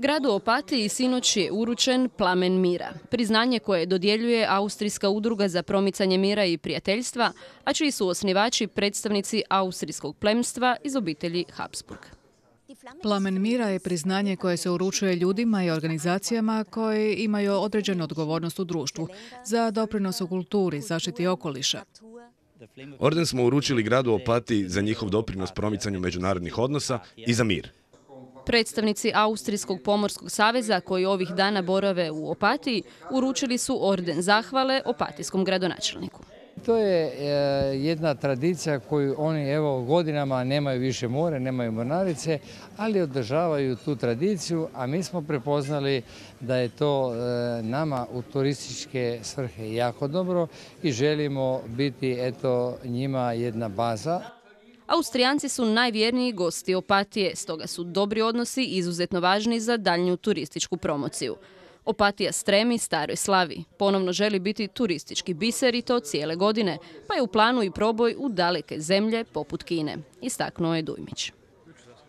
Gradu Opatiji sinoć je uručen Plamen mira, priznanje koje dodjeljuje Austrijska udruga za promicanje mira i prijateljstva, a čiji su osnivači predstavnici austrijskog plemstva iz obitelji Habsburg. Plamen mira je priznanje koje se uručuje ljudima i organizacijama koje imaju određenu odgovornost u društvu za doprinos u kulturi, zaštiti okoliša. Orden smo uručili gradu Opatiji za njihov doprinos promicanju međunarodnih odnosa i za mir. Predstavnici Austrijskog pomorskog saveza koji ovih dana borave u Opatiji uručili su orden zahvale opatijskom gradonačelniku. To je jedna tradicija koju oni godinama nemaju više more, nemaju mornarice, ali održavaju tu tradiciju, a mi smo prepoznali da je to nama u turističke svrhe jako dobro i želimo biti njima jedna baza. Austrijanci su najvjerniji gosti Opatije, stoga su dobri odnosi izuzetno važni za daljnju turističku promociju. Opatija stremi staroj slavi, ponovno želi biti turistički biser i to cijele godine, pa je u planu i proboj u daleke zemlje poput Kine, istaknuo je Dujmić.